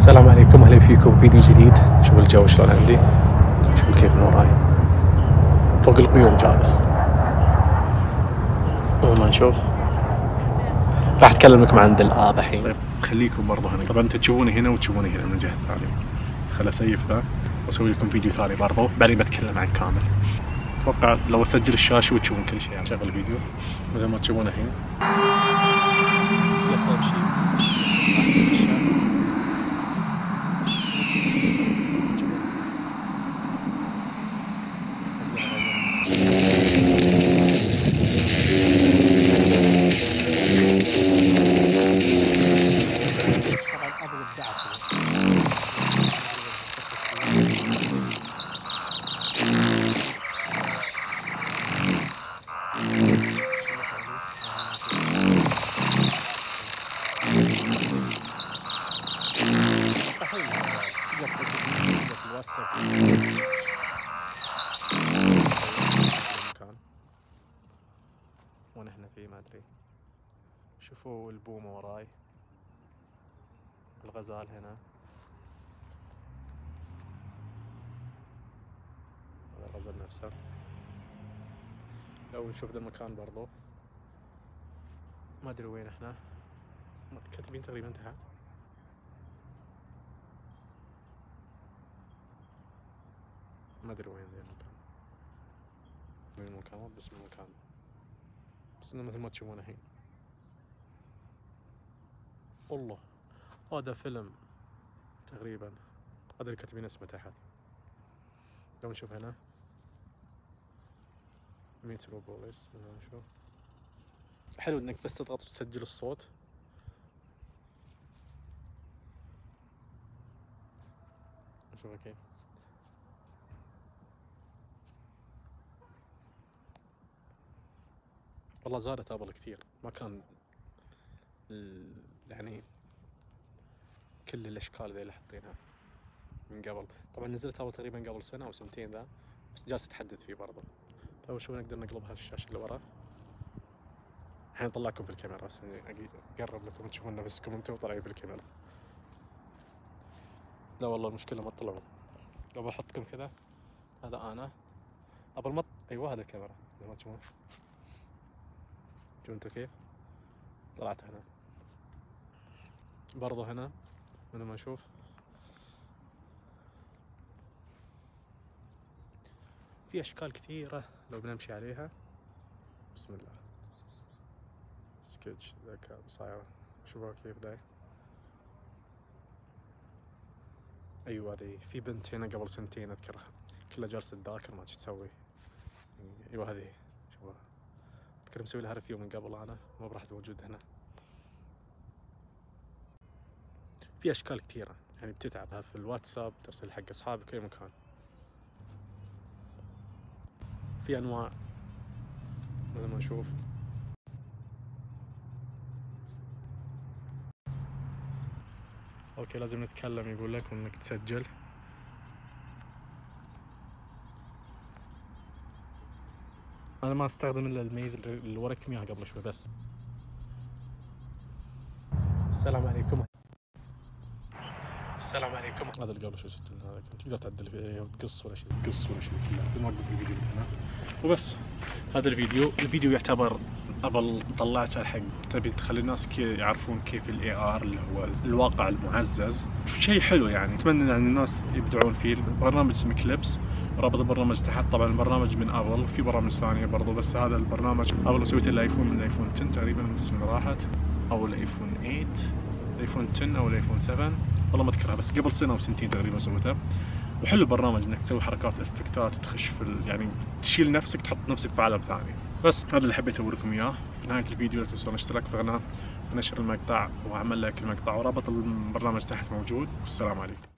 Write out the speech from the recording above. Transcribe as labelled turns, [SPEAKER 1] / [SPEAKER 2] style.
[SPEAKER 1] السلام عليكم، اهلا فيكم فيديو جديد. شوف الجو شلون عندي، شوف كيف من وراي فوق الغيوم جالس. ما نشوف راح اتكلم لكم عن الآب الحين.
[SPEAKER 2] طيب خليكم برضه هنا. طبعا انتم تشوفوني هنا وتشوفوني هنا من الجهه الثانيه. خل اسيف ذا واسوي لكم فيديو ثاني برضه، بعدين بتكلم عن كامل. اتوقع لو اسجل الشاشه وتشوفون كل شيء. يعني شغل الفيديو مثل ما تشوفونه الحين.
[SPEAKER 1] وانا هنا في ما ادري. شوفوا البومة وراي، الغزال هنا، هذا الغزال نفسه. لو نشوف ذا المكان برضو ما ادري وين احنا، كاتبين تقريبا تحت. ما ادري وين ذا المكان، وين المكان، بس المكان بس انه مثل ما تشوفون الحين. والله هذا فيلم تقريبا، هذا اللي كاتبين اسمه تحت. لو نشوف هنا متروبوليس، نشوف. حلو انك بس تضغط وتسجل الصوت. نشوف كيف. والله زادت ابل كثير، ما كان يعني كل الاشكال ذي اللي حاطينها من قبل. طبعا نزلت ابل تقريبا قبل سنه او سنتين ذا، بس جالس اتحدث فيه برضه. لو شوف نقدر نقلبها الشاشه اللي ورا. الحين اطلعكم في الكاميرا بس اقرب لكم تشوفون نفسكم انتم طالعين في الكاميرا. لا والله المشكله ما تطلعون. لو بحطكم كذا، هذا انا ابل مط. ايوه هذا الكاميرا ما تشوفون. شوفوا انتم كيف طلعت هنا برضه. هنا مثل ما نشوف في اشكال كثيره لو بنمشي عليها. بسم الله. سكتش ذا كان صاير، شوفوا كيف ذا. ايوه هذه في بنت هنا قبل سنتين اذكرها، كلها جالسه تذاكر ما تسوي. ايوه هذه شوفها، اذكر مسوي لها ريفيو من قبل انا، ما راح موجود هنا. في اشكال كثيره يعني بتتعبها في الواتساب، ترسل حق اصحابك اي مكان. في انواع مثل ما نشوف. اوكي لازم نتكلم، يقول لك انك تسجل. انا ما استخدم الا الميز اللي وريتكم اياها قبل شوي بس. السلام عليكم. السلام عليكم. هذا اللي قبل شوي سجلنا، هذا تقدر تعدل فيه وتقص ولا شيء، تقص ولا شيء كله. نوقف الفيديو هنا وبس. هذا الفيديو يعتبر ابل طلعته الحق تبي تخلي الناس يعرفون كيف الاي ار اللي هو الواقع المعزز. شيء حلو يعني، اتمنى ان الناس يبدعون فيه. برنامج اسمه كليبس، رابط البرنامج تحت. طبعا البرنامج من ابل، في برامج ثانيه برضو، بس هذا البرنامج ابل سويته الايفون، من الايفون 10 تقريبا بس اللي راحت، او الايفون 8، الايفون 10 او الايفون 7، والله ما اذكرها، بس قبل سنه او سنتين تقريبا سويته. وحلو البرنامج انك تسوي حركات افكتات وتخش في يعني تشيل نفسك، تحط نفسك في عالم ثاني. بس هذا اللي حبيت اقول لكم اياه. في نهايه الفيديو لا تنسون الاشتراك في القناه ونشر المقطع وعمل لايك المقطع، ورابط البرنامج تحت موجود. والسلام عليكم.